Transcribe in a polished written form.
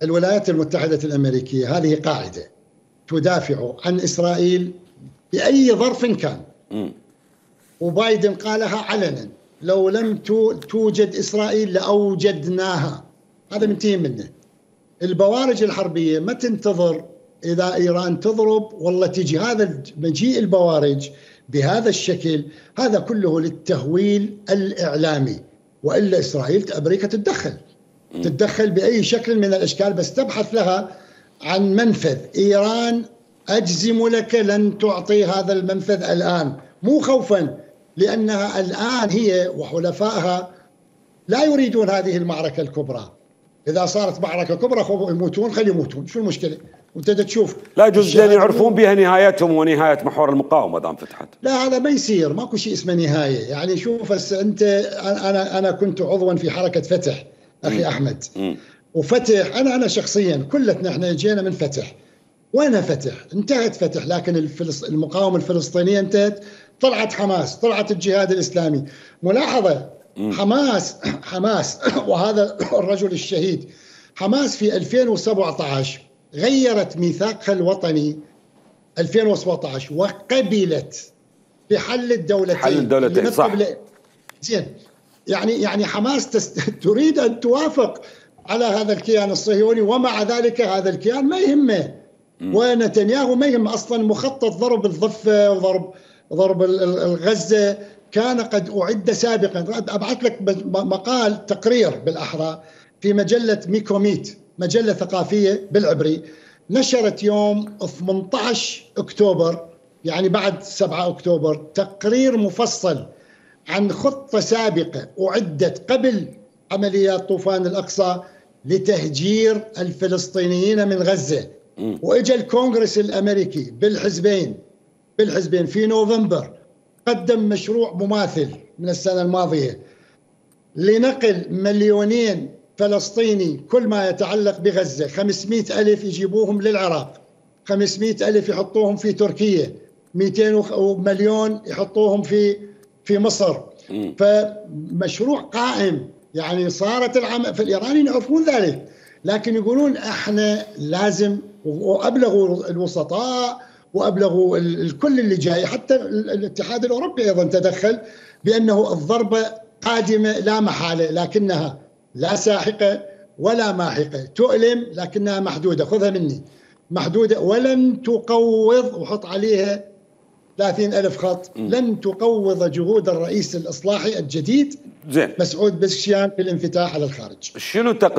الولايات المتحدة الأمريكية هذه قاعدة تدافع عن إسرائيل بأي ظرف كان. وبايدن قالها علنا: لو لم توجد إسرائيل لأوجدناها. هذا منتهي منه. البوارج الحربية ما تنتظر إذا إيران تضرب والله تجي. هذا مجيء البوارج بهذا الشكل هذا كله للتهويل الإعلامي، وإلا إسرائيل أمريكا تتدخل بأي شكل من الأشكال، بس تبحث لها عن منفذ. إيران أجزم لك لن تعطي هذا المنفذ الآن، مو خوفا، لأنها الآن هي وحلفائها لا يريدون هذه المعركة الكبرى. إذا صارت معركة كبرى يموتون، خلي يموتون، شو المشكلة؟ وانت تشوف لا يجوز أن يعرفون بها نهايتهم ونهاية محور المقاومة دام فتحت. لا هذا ما يصير، ماكو شيء اسمه نهاية. يعني شوف انت، أنا كنت عضوا في حركة فتح أخي أحمد. وفتح أنا شخصيا كلتنا احنا جينا من فتح. وين فتح؟ انتهت فتح، لكن المقاومة الفلسطينية انتهت. طلعت حماس، طلعت الجهاد الإسلامي. ملاحظة، حماس وهذا الرجل الشهيد، حماس في 2017 غيرت ميثاقها الوطني 2017 وقبلت بحل الدولتين. صح. زين، يعني حماس تريد أن توافق على هذا الكيان الصهيوني، ومع ذلك هذا الكيان ما يهمه. ونتنياهو ما يهم أصلا. مخطط ضرب الضفة وضرب الغزة كان قد أعد سابقا. أبعث لك مقال تقرير بالأحرى في مجلة ميكوميت، مجلة ثقافية بالعبري، نشرت يوم 18 أكتوبر، يعني بعد 7 أكتوبر، تقرير مفصل عن خطة سابقة أعدت قبل عمليات طوفان الأقصى لتهجير الفلسطينيين من غزة. وإجا الكونغرس الأمريكي بالحزبين في نوفمبر قدم مشروع مماثل من السنة الماضية لنقل 2,000,000 فلسطيني كل ما يتعلق بغزة. 500,000 يجيبوهم للعراق، 500,000 يحطوهم في تركيا، 200 مليون يحطوهم في مصر. فمشروع قائم. يعني صارت فالإيرانيين يعرفون ذلك، لكن يقولون احنا لازم. وأبلغوا الوسطاء وأبلغوا الكل اللي جاي، حتى الاتحاد الأوروبي أيضا تدخل بأنه الضربة قادمة لا محالة، لكنها لا ساحقة ولا ماحقة. تؤلم لكنها محدودة، خذها مني، محدودة. ولن تقوض، وحط عليها 30,000 خط، لن تقوض جهود الرئيس الإصلاحي الجديد مسعود بزشكيان في الانفتاح على الخارج. شنو تقديم